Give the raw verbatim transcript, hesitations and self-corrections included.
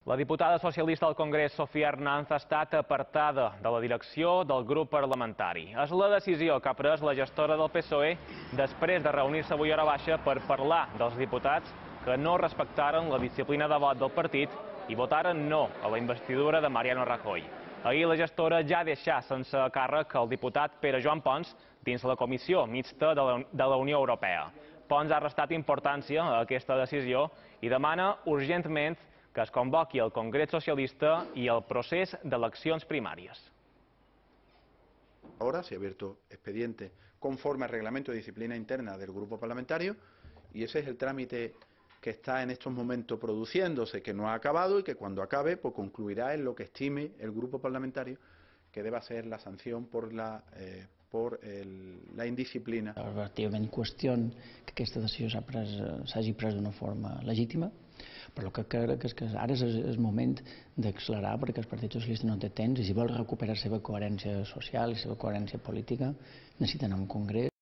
La diputada socialista al Congrés, Sofia Hernández, ha estat apartada de la direcció del grup parlamentari. És la decisió que ha pres la gestora del P S O E després de reunir-se avui a hora baixa per parlar dels diputats que no respectaren la disciplina de vot del partit i votaren no a la investidura de Mariano Rajoy. Ahir la gestora ja deixà sense càrrec el diputat Pere Joan Pons dins la comissió mixta de la, de la Unió Europea. Pons ha restat importància a aquesta decisió i demana urgentment que es convoqui el Congrés Socialista y el procés de eleccions primàries. Ahora se ha abierto expediente conforme al reglamento de disciplina interna del grupo parlamentario y ese es el trámite que está en estos momentos produciéndose, que no ha acabado y que cuando acabe pues concluirá en lo que estime el grupo parlamentario que deba ser la sanción por la, eh, por el, la indisciplina. Relativament qüestiona que aquesta decisió s'hagi pres d'una forma legítima, però el que crec és que ara és el moment d'accelerar perquè el Partit Socialista no té temps i si vol recuperar la seva coherència social i la seva coherència política necessiten un congrés.